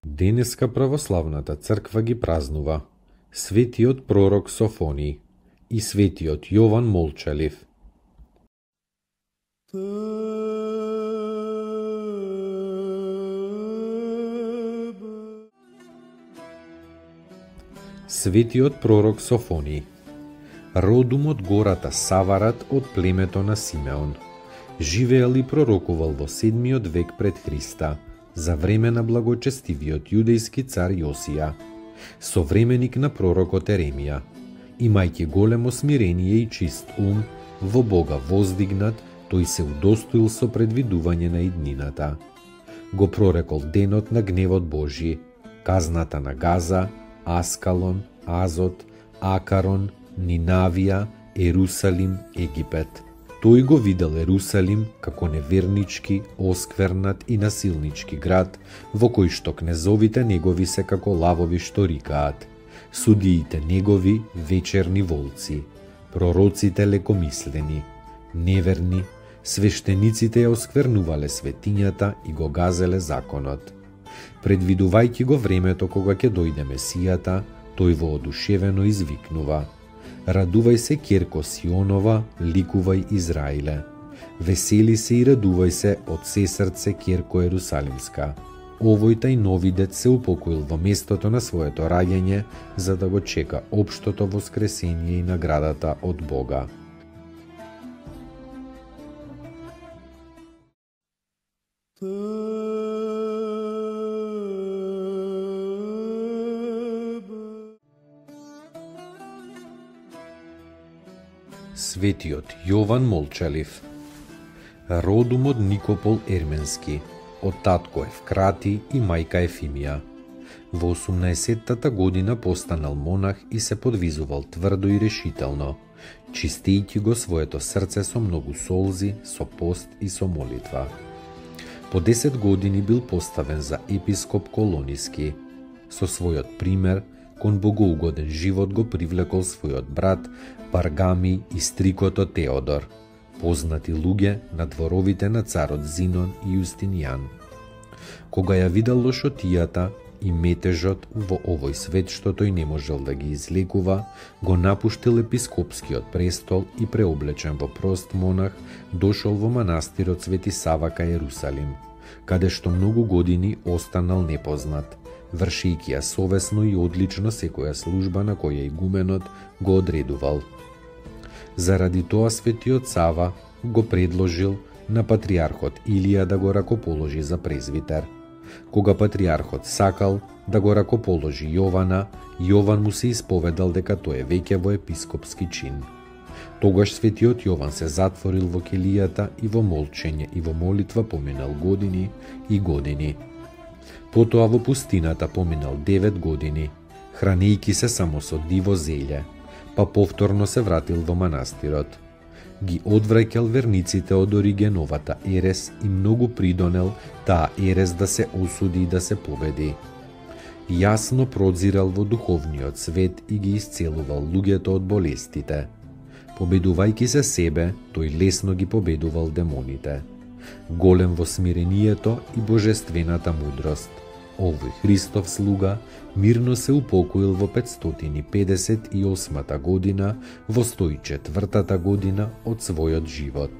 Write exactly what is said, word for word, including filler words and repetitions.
Денеска православната црква ги празнува светиот пророк Софони и светиот Јован Молчалив. Светиот пророк Софони, родум од гората Саварат од племето на Симеон, живеел и пророкувал во седмиот век пред Христа, за време на благочестивиот јудејски цар Јосија, современик на пророкот Еремија, имајќи големо смирение и чист ум, во Бога воздигнат, тој се удостоил со предвидување на иднината. Го прорекол денот на гневот Божи, казната на Газа, Аскалон, Азот, Акарон, Нинавија, Ерусалим, Египет. Тој го видел Ерусалим како невернички, осквернат и насилнички град, во кој што кнезовите негови се како лавови што рикаат, судиите негови вечерни волци, пророците лекомислени, неверни, свештениците ја осквернувале светињата и го газеле законот. Предвидувајќи го времето кога ќе дојде Месијата, тој воодушевено извикнува: Радувај се, ќерко Сионова, ликувај Израиле. Весели се и радувај се од се срце, ќерко Ерусалимска. Овој тај нови дет се упокоил во местото на своето раѓање, за да го чека општото воскресение и наградата од Бога. Светиот Јован Молчалив, родум од Никопол Ерменски, од татко Евкрати и мајка Ефимија. Во осумнаесеттата година постанал монах и се подвизувал тврдо и решително, чистејќи го своето срце со многу солзи, со пост и со молитва. По десет години бил поставен за епископ Колониски. Со својот пример, кон богоугоден живот го привлекол својот брат Паргами и стрикото Теодор, познати луѓе на дворовите на царот Зинон и Јустинијан. Кога ја видел лошотијата и метежот во овој свет што тој не можел да ги излекува, го напуштил епископскиот престол и преоблечен во прост монах, дошол во манастирот Свети Сава кај Ерусалим, каде што многу години останал непознат, вршејќи ја совесно и одлично секоја служба на која игуменот го одредувал. Заради тоа Светиот Сава го предложил на патриархот Илија да го ракоположи за презвитер. Кога патриархот сакал да го ракоположи Јована, Јован му се исповедал дека тој е веќе во епископски чин. Тогаш Светиот Јован се затворил во келијата и во молчење и во молитва поминал години и години. Потоа во пустината поминал девет години, хранејќи се само со диво зелје, па повторно се вратил во манастирот. Ги одвраќал верниците од Оригеновата ерес и многу придонел таа ерес да се осуди и да се победи. Јасно прозирал во духовниот свет и ги исцелувал луѓето од болестите. Победувајќи се себе, тој лесно ги победувал демоните. Голем во смирението и божествената мудрост, овој Христов слуга мирно се упокоил во петстотини педесет и осмата година, во сто и четвртата година од својот живот.